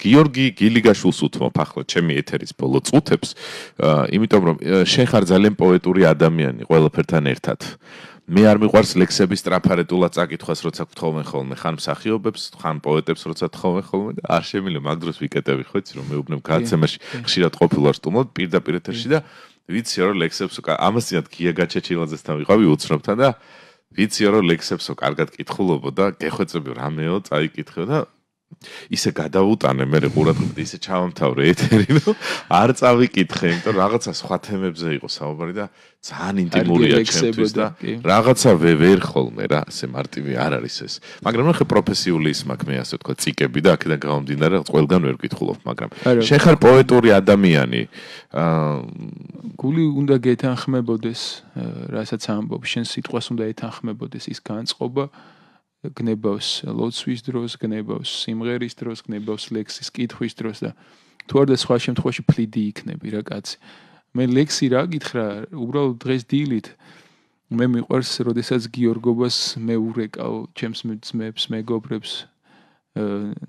გიორგი გილიგაშვილს უთმობ ახლა ჩემი ეთერის ბოლო წუთებს, იმიტომ რომ შენ ხარ ძალიან პოეტური ადამიანი ყველაფერთან ერთად. მე არ მიყვარს ლექსების ტრაფარეტულად წაკითხვას, როცა გთხოვენ ხოლმე, ხან მსახიობებს, ხან პოეტებს, როცა თხოვენ ხოლმე და არ შემიძლია მაგ დროს ვიკეტები ხო იცი რომ მეუბნებ გადაცემაში ხშირად ყოფილვარ სტუმრად პირდაპირ ეთერში და ვიცი რომ ლექსებს ამასთანავ გია გაჩეჩილაძესთან ვიყავი უცნობთან და ვიცი რომ ლექსებსო კარგად კითხულობო და გეხვეწები რამეო წაიკითხე და ისე გადავუტანე მე ყურადღებით ისე ჩავამთავრე ეთერი რომ არ წავიკითხე იმიტომ რაღაცა სხვა თემებზე იყო საუბარი და ძალიან ინტიმურია ჩემთვის და რაღაცა ვერ ხოლმე რა ასე მარტივი არ არის ეს მაგრამ ნახე პროფესიული ის მაქვს მე ასე ვთქვა ციკები და აქედან გამომდინარე ყველგან ვერ ვკითხულობ მაგრამ შენ ხარ პოეტური ადამიანი გული უნდა გეთანხმებოდეს რასაც ამბობ შენ სიტყვას უნდა ეთანხმებოდეს ის განწყობა გნებავს ლოცვის დროს, გნებავს სიმღერის დროს, გნებავს ლექსის კითხვის დროს და თუ არ და სხვა შემთხვევაში ფლიდი იქნები რა კაცი. მე ლექსი რა გითხრა, უბრალოდ დღეს დილით მე მიყვარს, როდესაც გიორგობას მე ურეკავ ჩემს ძმებს, მეგობრებს,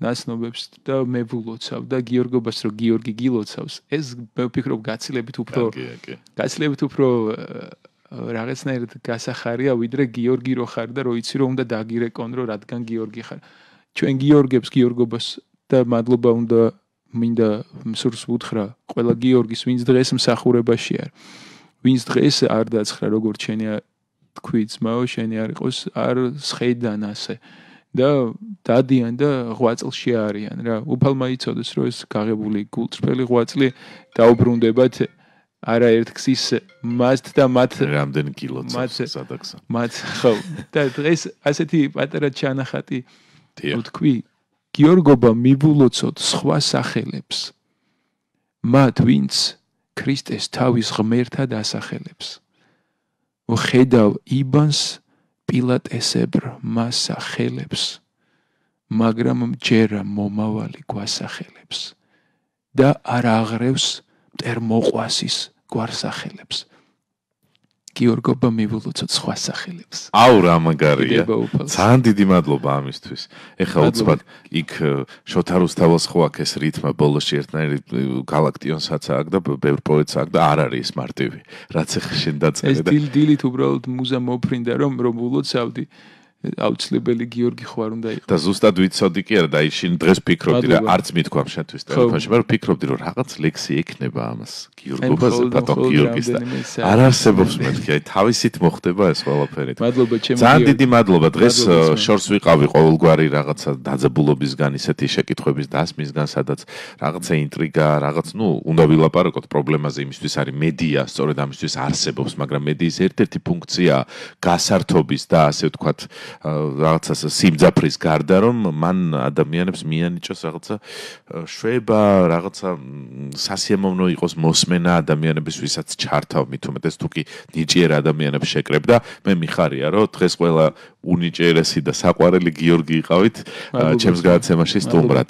ნაცნობებს და მე ვილოცავ და გიორგობას რო გიორგი გილოცავს, ეს მე ვფიქრობ გაცილებით უფრო რაღაცნაირად გასახარია ვიდრე გიორგი რო ხარ და რო იცი რომ უნდა დაგირეკონ რომ რადგან გიორგი ხარ ჩვენ გიორგებს გიორგობას და მადლობა უნდა მინდა მსურს ვუთხრა ყველა გიორგის ვინც დღეს მსახურებაში არ ვინც დღეს არ დაცხრა როგორც შენი თქვი ძმაო შენი არ იყოს არ სხედან ასე და დადიან და 8 წელში არიან რა უფალმა იცოდეს რომ ეს გაღებული გულწრფელი 8 წელი დაუბრუნდებათ არაერთ გზის მასთ და მათ რამდენი კილოცავს სადაგსა მათ ხო და დღეს ასეთი პატარა ჩანახატი ვთქვი გიორგობა მიბულოცოთ სხვა სახელებს მათ ვინც ქრისტეს თავის ღმერთად ასახელებს ვხედავ იბანს პილატესებრ მას სახელებს მაგრამ მჯერა მომავალი გვასახელებს და არ აღრევს მტერმოყვასის გვარსახელებს გიორგობა მიბულოცოთ სხვა სახელებს აუ რა მაგარია ძალიან დიდი მადლობა ამისთვის ეხლა უცბად იქ შოთა რუსთაველს ხო აქ ეს რითმა ბოლოში ერთნაირი გალაქტიონსაც აქ და ბევრ პოეტს აქ და არ არის ეს მარტივი რაც ეხლა შენ დაწერე და ეს დილით უბრალოდ მუზა მოფრინდა რომ ვილოცავდი აუცილებელი გიორგი ხო არ უნდა იყოს და ზუსტად ვიცოდი კი არა და ისინი დღეს ფიქრობდი რა არც მithქვამ შენთვის ტელეფონში მაგრამ ფიქრობდი რომ რაღაც ლექსი ექნება ამას გიორგობაზე ბატონ გიორგის და არ არსებობს მეთქი აი თავისით მოხდება ეს ყველაფერი მადლობა ჩემო ძალიან დიდი მადლობა დღეს შორს ვიყავი ყოველგვარი რაღაცა დაძაბულობისგან ისეთი შეკითხვების დასმისგან სადაც რაღაცა ინტრიგა რაღაც ნუ უნდა ვილაპარაკოთ პრობლემაზე იმისთვის არის მედია სწორედ ამისთვის არსებობს მაგრამ მედიის ერთ-ერთი ფუნქცია გასართობის და ასე ვთქვათ რაღაცა სიმძაფრის გარდა რომ მან ადამიანებს მიანიჭოს რაღაცა შვება რაღაცა სასიამოვნო იყოს მოსმენა ადამიანების ვისაც ჩართავ მით უმეტეს თუ კი ნიჭიერ ადამიანებს შეკრებ და მე მიხარია რომ დღეს ყველა უნიჭიერესი და საყვარელი გიორგი იყავით ჩემს გადაცემაში სტუმრად